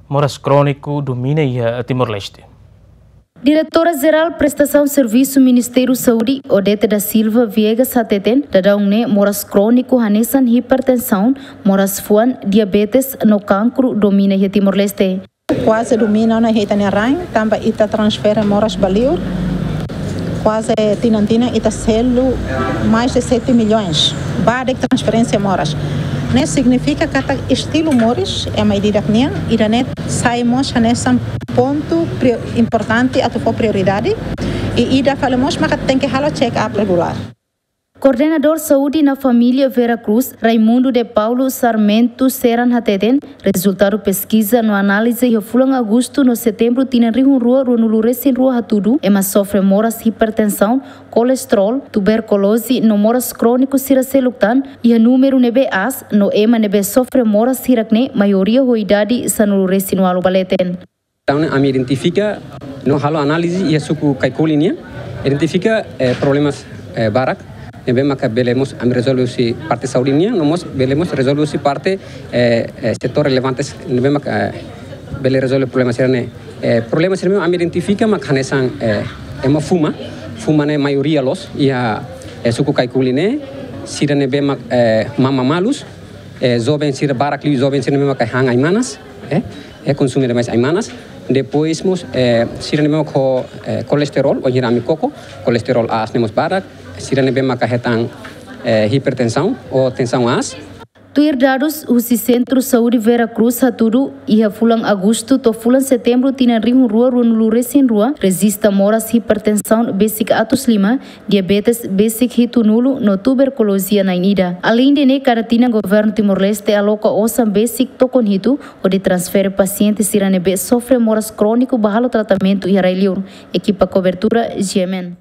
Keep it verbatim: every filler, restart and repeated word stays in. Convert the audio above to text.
Moras króniku domina iha Timor-Leste. Diretora Jerál Prestasaun Servisu Ministériu Saúde, Odete da Silva Viegas hateten, daudaun ne'e moras króniku hanesan hipertensaun, moras fuan, diabetes no kankru domina iha Timor-Leste. Kuaze domina ona iha ita-nia rain, tanba ita transfere moras ba liur. Kuaze tinan-tinan ita selu mais de sete milhões ba dek transferénsia moras. Ne'e signifika katak estilu moris ema ida-idak nian, ida-ne'e sai mós hanesan pontu prio-, importante atu fó prioridade. I ida fali mós maka tenke halo check-up regulár. Koordenadór Saúde no Família Vera Cruz, Raimundo de Paulo Sarmento Seran hateten, rezultadu peskiza no análize iha fulan Agostu no Setembru tinan rihun rua ruanulu resin rua hatudu, ema sofre moras hipertensaun, kolesterol, tuberkuloze no moras króniku sira seluk tan, iha númeru ne'ebé aas, no ema ne'ebé sofre moras hirak-ne'e maioria ho idade sanulu resin ualu ba leten. Entaun, ami identifika, no halo análize iha suku Kaikoli nian, identifika, eh, problemas, eh, barak, ne'ebé maka bele mós ami rezolve husi parte saúde nian, no mós bele mós rezolve husi parte, eh, eh, setór relevantes, ne'ebé maka, eh, bele rezolve problema sira-ne'e. Eh, problema sira-ne'e ami identifika maka hanesan, eh, ema fuma, fuma ne'e maioria loos iha, eh, suku Kaikoli ne'e, sira ne'ebé mak, eh, mama malus, eh, joven sira barak liu, joven sira ne'ebé maka han ai-manas, eh, eh, konsume demais ai-manas. Depois mós, eh, sira ne'ebé maka ho, eh, kolesterol, wainhira ami koko, kolesterol aas ne'e mós barak, sira ne'ebé maka hetan, eh, hipertensaun ou tensaun aas. Tuir dadus husi Sentru Saúde Vera Cruz hatudu, iha fulan Agostu to'o fulan Setembru tinan rihun rua ruanulu resin rua, rejista moras hipertensaun besik atus lima, diabetes besik hitunulu no tuberkuloze na'in ida. Aleinde ne'e, kada tinan Governu Timor-Leste aloka osan besik tokon hitu hodi transfere pasiente sira ne'ebé sofre moras króniku ba halo tratamentu iha rai-liur. Ekipa kobertura, G M N.